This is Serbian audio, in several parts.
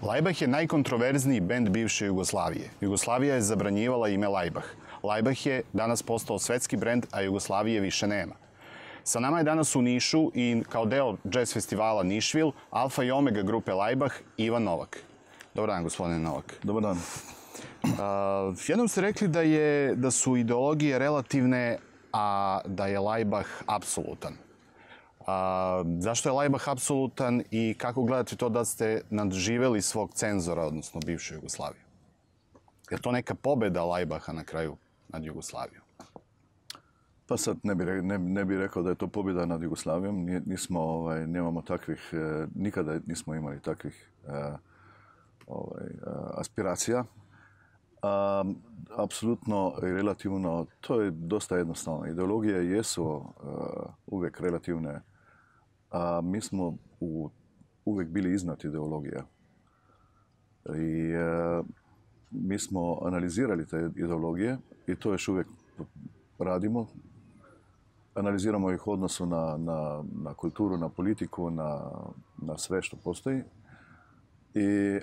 Laibach je najkontroverzniji bend bivše Jugoslavije. Jugoslavija je zabranjivala ime Laibach. Laibach je danas postao svetski brend, a Jugoslavije više nema. Sa nama je danas u Nišu i kao deo jazz festivala Nišvil, alfa i omega grupe Laibach, Ivan Novak. Dobar dan, gospodine Novak. Dobar dan. Jednom ste rekli da su ideologije relativne, a da je Laibach apsolutan. Zašto je Laibach apsolutan i kako gledate to da ste nadživeli svog cenzora, odnosno bivšu Jugoslaviju? Je to neka pobeda Laibacha na kraju nad Jugoslavijom? Pa sad ne bi rekao da je to pobjeda nad Jugoslavijom. Nemamo takvih, nikada nismo imali takvih aspiracija. Apsolutno i relativno, to je dosta jednostavno. Ideologije jesu uvijek relativne, a mi smo uvijek bili iznad ideologija. I mi smo analizirali te ideologije i to još uvijek radimo. Analiziramo ih u odnosu na kulturu, na politiku, na sve što postoji.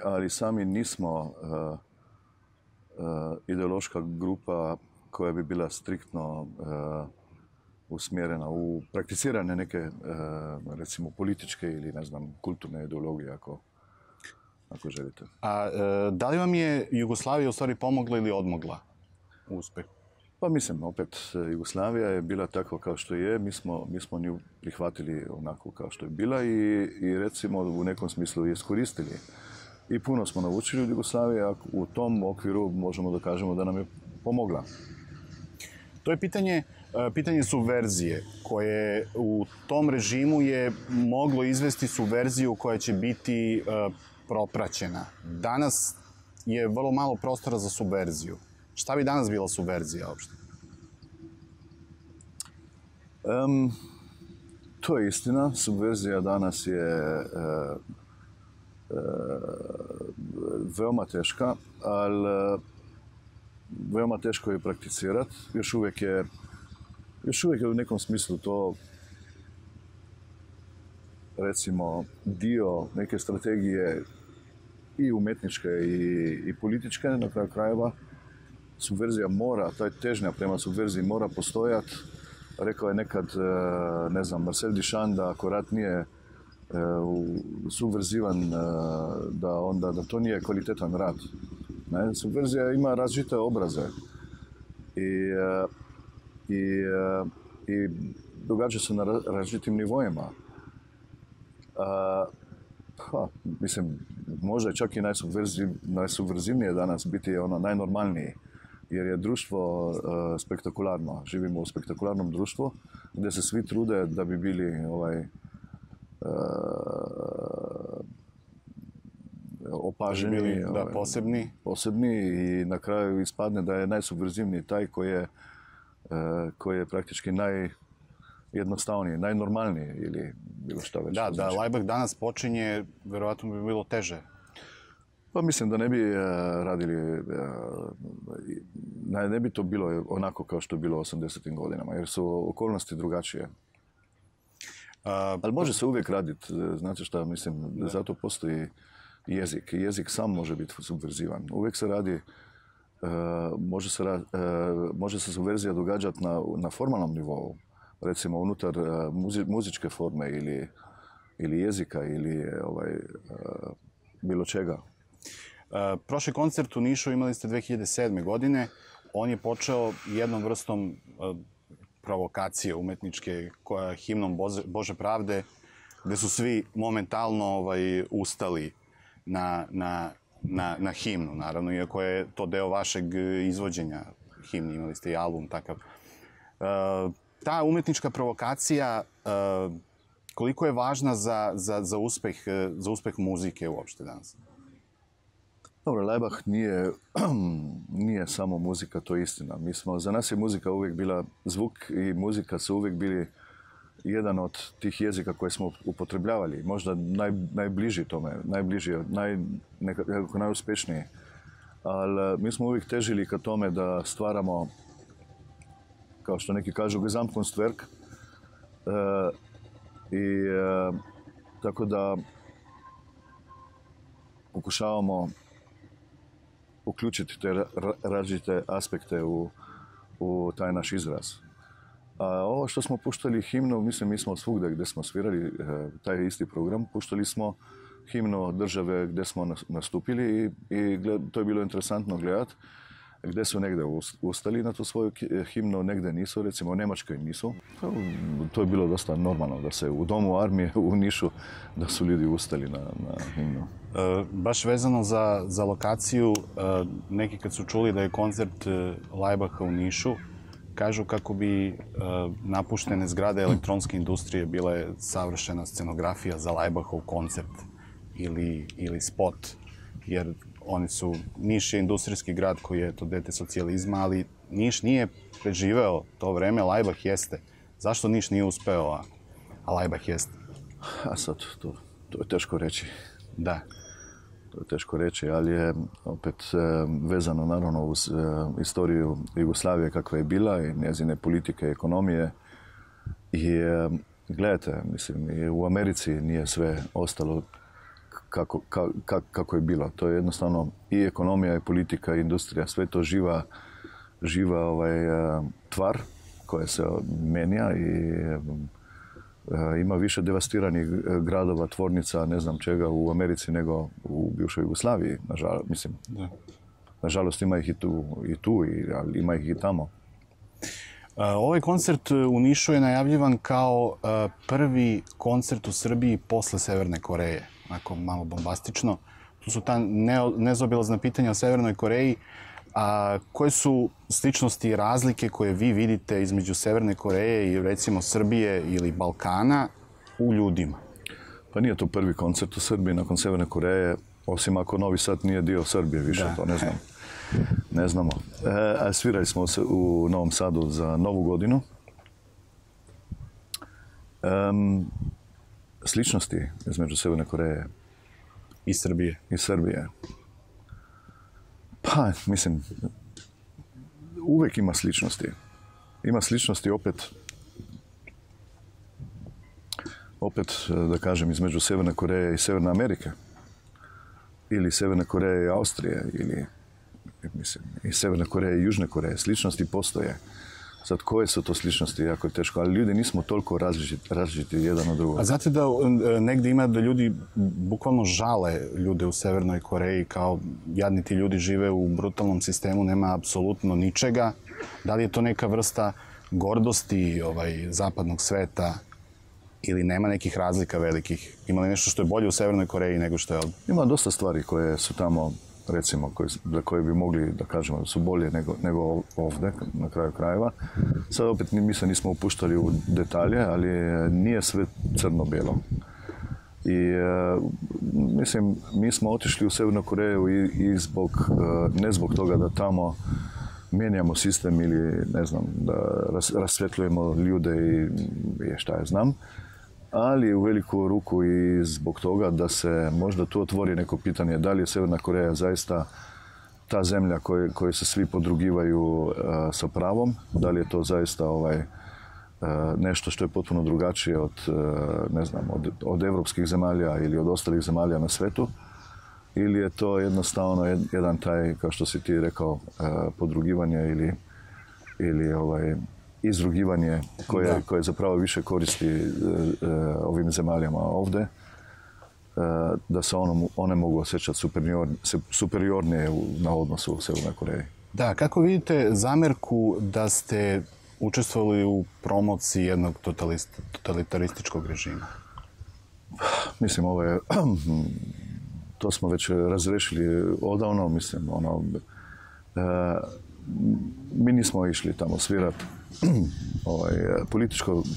Ali sami nismo ideološka grupa koja bi bila striktno usmjerena u prakticirane neke, recimo, političke ili, ne znam, kulturne ideologije, ako želite. A da li vam je Jugoslavija u stvari pomogla ili odmogla u uspehu? Pa mislim, opet, Jugoslavija je bila takva kao što je, mi smo nju prihvatili onako kao što je bila i recimo u nekom smislu iskoristili. I puno smo naučili od Jugoslavije, a u tom okviru možemo da kažemo da nam je pomogla. To je pitanje subverzije, koje u tom režimu je moglo izvesti subverziju koja će biti propraćena. Danas je vrlo malo prostora za subverziju. Šta bi danas bila subverzija uopšte? To je istina. Subverzija danas je veoma teška, ali veoma teško je prakticirati. Još uvijek je u nekom smislu to, recimo, dio neke strategije i umetničke i političke, na kraju krajeva. Subverzija mora, ta težnja prema subverziji mora postojati. Rekao je nekad, ne znam, Marcel Duchamp da ako rat nije subverzivan, da to nije kvalitetan rat. Subverzija ima različite obraze i događa se na različitim nivoima. Mislim, može čak i najsubverzivnije danas biti ono najnormalniji, jer je društvo spektakularno. Živimo u spektakularnom društvu gdje se svi trude da bi bili opaženi, posebni i na kraju ispadne da je najsubverzivniji taj koji je praktički najjednostavniji, najnormalniji ili bilo šta već. Da Laibach danas počinje, verovatno bi bilo teže. Pa mislim da ne bi radili, ne bi to bilo onako kao što je bilo u 80. godinama, jer su okolnosti drugačije. Ali može se uvijek raditi, znate šta, mislim, zato postoji jezik. Jezik sam može biti subverzivan. Uvijek se radi, može se subverzija događati na formalnom nivou, recimo unutar muzičke forme ili jezika ili bilo čega. Prošli koncert u Nišu imali ste 2007. godine. On je počeo jednom vrstom provokacije umetničke, himnom Bože pravde, gde su svi momentalno ustali na himnu, naravno, iako je to deo vašeg izvođenja himni, imali ste i album takav. Ta umetnička provokacija, koliko je važna za uspeh muzike uopšte danas? Dobro, Laibach nije samo muzika, to je istina. Za nas je muzika uvijek bila zvuk i muzika su uvijek bili jedan od tih jezika koje smo upotrebljavali. Možda najbliži tome, nekako najuspješniji. Ali mi smo uvijek težili ka tome da stvaramo, kao što neki kažu, Gesamtkunstwerk. Tako da pokušavamo uključiti te različite aspekte u taj naš izraz. A ovo što smo puštali himnu, mislim, mi smo svugdje gdje smo svirali taj isti program, puštali smo himnu države gdje smo nastupili i to je bilo interesantno gledati. Gdje su negdje ustali na tu svoju himnu, negdje nisu, recimo u Njemačkoj nisu. To je bilo dosta normalno da se u domu armije u Nišu da su ljudi ustali na himnu. Baš vezano za lokaciju, neki kad su čuli da je koncert Lajbaha u Nišu, kažu kako bi napuštene zgrade elektronske industrije bile savršena scenografija za Lajbahov koncert ili spot. Jer Niš je industrijski grad koji je to dete socijalizma, ali Niš nije preživeo to vreme, Lajbah jeste. Zašto Niš nije uspeo, a Lajbah jeste? A sad, to je teško reći. Da. To je teško reći, ali je opet vezano naravno uz istoriju Jugoslavije kakva je bila i njezine politike, ekonomije. I gledajte, mislim, i u Americi nije sve ostalo kako je bilo. To je jednostavno i ekonomija, i politika, i industrija, sve to živa tvar koja se menja i ima više devastiranih gradova, tvornica, ne znam čega u Americi nego u bivšoj Jugoslaviji. Nažalost ima ih i tu, ali ima ih i tamo. Ovaj koncert u Nišu je najavljivan kao prvi koncert u Srbiji posle Severne Koreje. Onako malo bombastično. Tu su ta nezaobilazna pitanja o Severnoj Koreji. A koje su sličnosti i razlike koje vi vidite između Severne Koreje i recimo Srbije ili Balkana u ljudima? Pa nije to prvi koncert u Srbiji nakon Severne Koreje, osim ako Novi Sad nije dio Srbije više, to ne znam. Ne znamo. Svirali smo se u Novom Sadu za Novu godinu. Sličnosti između Severne Koreje i Srbije. Pa, mislim, uvijek ima sličnosti. Ima sličnosti opet, da kažem, između Severne Koreje i Severne Amerike. Ili Severne Koreje i Austrije, ili, mislim, i Severne Koreje i Južne Koreje. Sličnosti postoje. Sad, koje su to sličnosti, jako je teško, ali ljudi nismo toliko različiti jedan od drugog. A znate da negdje ima da ljudi bukvalno žale ljude u Severnoj Koreji, kao jadni ti ljudi žive u brutalnom sistemu, nema apsolutno ničega. Da li je to neka vrsta gordosti zapadnog sveta ili nema nekih razlika velikih? Ima li nešto što je bolje u Severnoj Koreji nego što je ovdje? Ima dosta stvari koje su tamo, recimo, za koje bi mogli da kažemo da su bolje nego ovdje, na kraju krajeva. Sad opet mi se nismo upuštali u detalje, ali nije sve crno-bijelo. I mislim, mi smo otišli u Severnu Koreju i ne zbog toga da tamo mijenjamo sistem ili, ne znam, da rasvjetljujemo ljude i šta ja znam, ali u veliku ruku i zbog toga da se možda tu otvori neko pitanje da li je Severna Koreja zaista ta zemlja koje se svi podrugivaju sa pravom, da li je to zaista nešto što je potpuno drugačije od evropskih zemalja ili od ostalih zemalja na svetu, ili je to jednostavno jedan taj, kao što si ti rekao, podrugivanje ili izrugivanje koje zapravo više koristi ovim zemaljama ovdje, da se one mogu osjećati superiornije na odnosu u Severnoj Koreji. Da, kako vidite zamerku da ste učestvovali u promociji jednog totalitarističkog režima? Mislim, to smo već razrešili odavno, mislim, mi nismo išli tamo svirati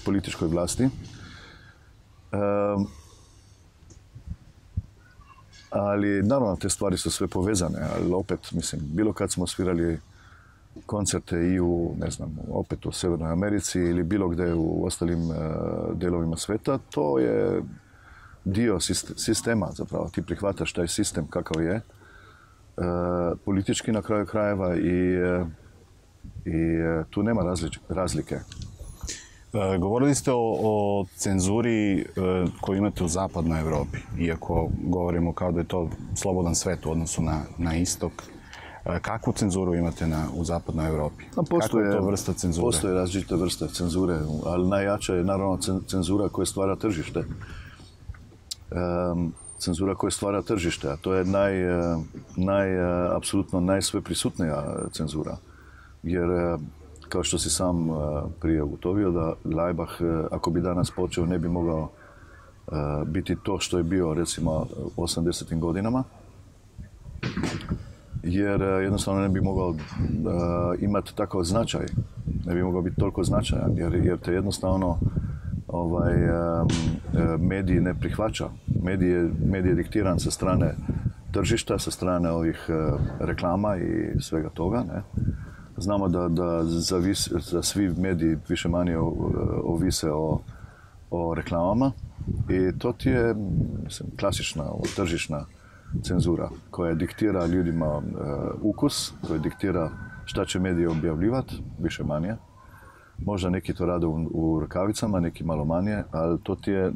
političkoj vlasti. Ali naravno te stvari su sve povezane, ali opet, mislim, bilo kad smo svirali koncerte i opet u Severnoj Americi ili bilo gdje u ostalim delovima sveta, to je dio sistema zapravo. Ti prihvataš taj sistem kakav je, politički na kraju krajeva i tu nema razlike. Govorili ste o cenzuri koju imate u zapadnoj Evropi, iako govorimo kao da je to slobodan svet u odnosu na istok. Kakvu cenzuru imate u zapadnoj Evropi? Kakva je to vrsta cenzure? Postoje različite vrste cenzure, ali najjača je naravno cenzura koja stvara tržište. Cenzura koja stvara tržište, a to je apsolutno najsveprisutnija cenzura. Jer, kao što si sam prije ugotovio, da Laibach, ako bi danas počeo, ne bi mogao biti to što je bio, recimo, u 80. godinama. Jer jednostavno ne bi mogao imati takav značaj. Ne bi mogao biti toliko značajan, jer te jednostavno mediji ne prihvaća. Medij je diktiran sa strane tržišta, sa strane ovih reklama i svega toga. Ne? Znamo da svi mediji više manje ovise o reklamama i to ti je klasična tržišna cenzura koja diktira ljudima ukus, koja diktira šta će mediji objavljivati, više manje. Možda neki to rade u rukavicama, neki malo manje, ali to ti je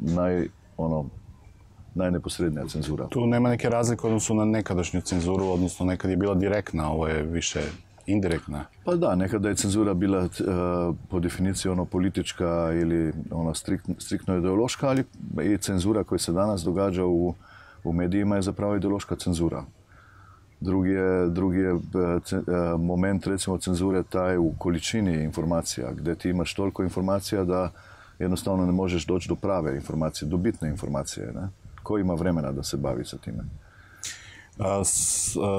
najneposrednija cenzura. Tu nema neke razlike u odnosu na nekadašnju cenzuru, odnosno nekad je bila direktna, ovo je više indirektna. Pa da, nekada je cenzura bila po definiciji politička ili striktno ideološka, ali i cenzura koja se danas događa u medijima je zapravo ideološka cenzura. Drugi je moment, recimo, cenzure taj u količini informacija, gdje ti imaš toliko informacija da jednostavno ne možeš doći do prave informacije, do bitne informacije. Ne? Ko ima vremena da se bavi sa time?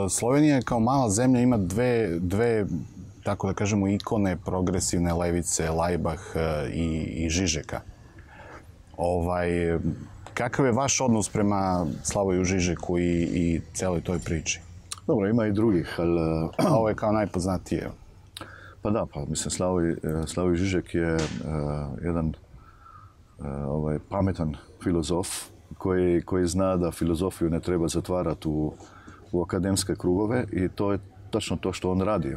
Slovenija kao mala zemlja ima dve, tako da kažemo, ikone progresivne levice, Laibach i Žižeka. Kakav je vaš odnos prema Slavoju Žižeku i celoj toj priči? Dobro, ima i drugih, ali... Ovo je kao najpoznatije. Pa da, mislim, Slavoj Žižek je jedan pametan filozof koji zna da filozofiju ne treba zatvarati u akademske krugove i to je točno to što on radi.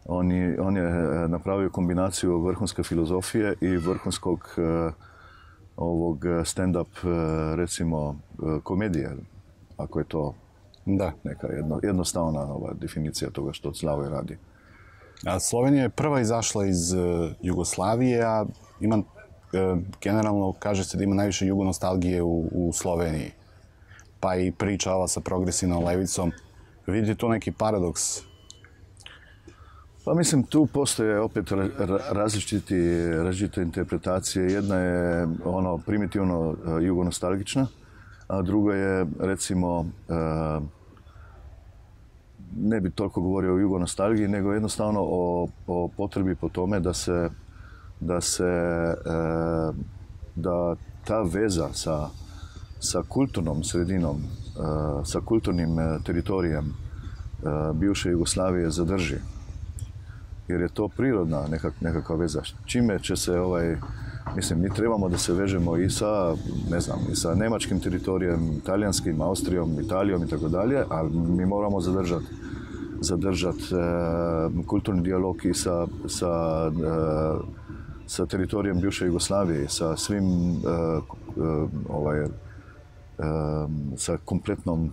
On je napravio kombinaciju vrhunske filozofije i vrhunskog ovog stand-up, recimo, komedije, ako je to neka jednostavna definicija toga što Slavoj radi. Slovenija je prva izašla iz Jugoslavije, a generalno kaže se da ima najviše jugonostalgije u Sloveniji. Pa i priča ova sa progresivnom levicom. Vidite tu neki paradoks? Pa mislim, tu postoje opet različite interpretacije. Jedna je primitivno jugonostalgična, a druga je, recimo, ne bi toliko govorio o jugonostalgiji, nego jednostavno o potrebi po tome da ta veza sa kulturnom sredinom, sa kulturnim teritorijem bivše Jugoslavije zadrži. Jer je to prirodna nekakva veza. Čime će se mislim, mi trebamo da se vežemo i sa, ne znam, i sa nemačkim teritorijem, italijanskim, Austrijom, Italijom i tako dalje, ali mi moramo zadržati kulturni dijalog i sa teritorijem bivše Jugoslavije, sa svim, sa kompletnom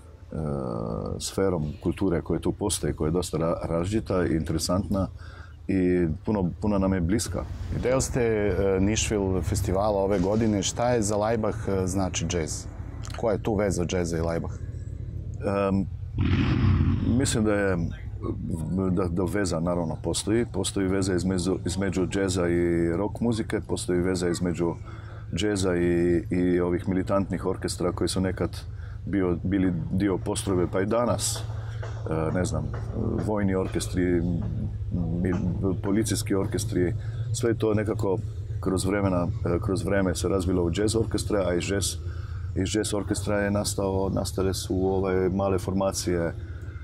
sferom kulture koja tu postoji, koja je dosta različita i interesantna i puno nam je bliska. Deo ste Nišvil festivala ove godine. Šta je za Laibach znači džez? Koja je tu veza džeza i Laibach? Mislim da veza naravno postoji. Postoji veza između džeza i rock muzike, postoji veza između džeza i ovih militantnih orkestra koji su nekad bili dio postrojbe, pa i danas, ne znam, vojni orkestri, policijski orkestri, sve to nekako kroz vreme se razvilo u jazz orkestre, a iz jazz orkestra je nastale su male formacije,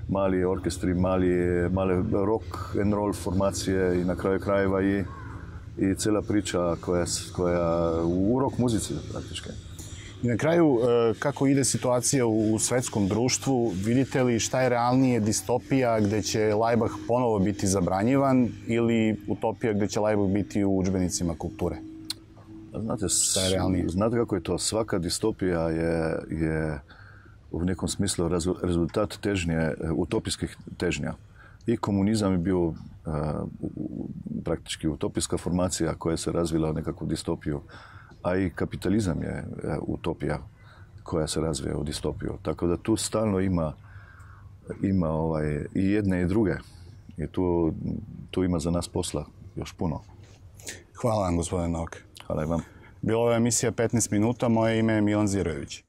mali orkestri, male rock and roll formacije i na kraju krajeva i cijela priča koja u rock muzici praktički. I na kraju, kako ide situacija u svetskom društvu, vidite li šta je realnije, distopija gde će Laibach ponovo biti zabranjivan ili utopija gde će Laibach biti u udžbenicima kulture? Znate kako je to? Svaka distopija je u nekom smislu rezultat težnje, utopijskih težnja. I komunizam je bio praktički utopijska formacija koja se razvila u nekakvu distopiju, a i kapitalizam je utopija koja se razvija u distopiju. Tako da tu stalno ima i jedne i druge. I tu ima za nas posla još puno. Hvala vam, gospodine Novak. Hvala i vam. Bila je emisija 15 minuta, moje ime je Milan Zirojević.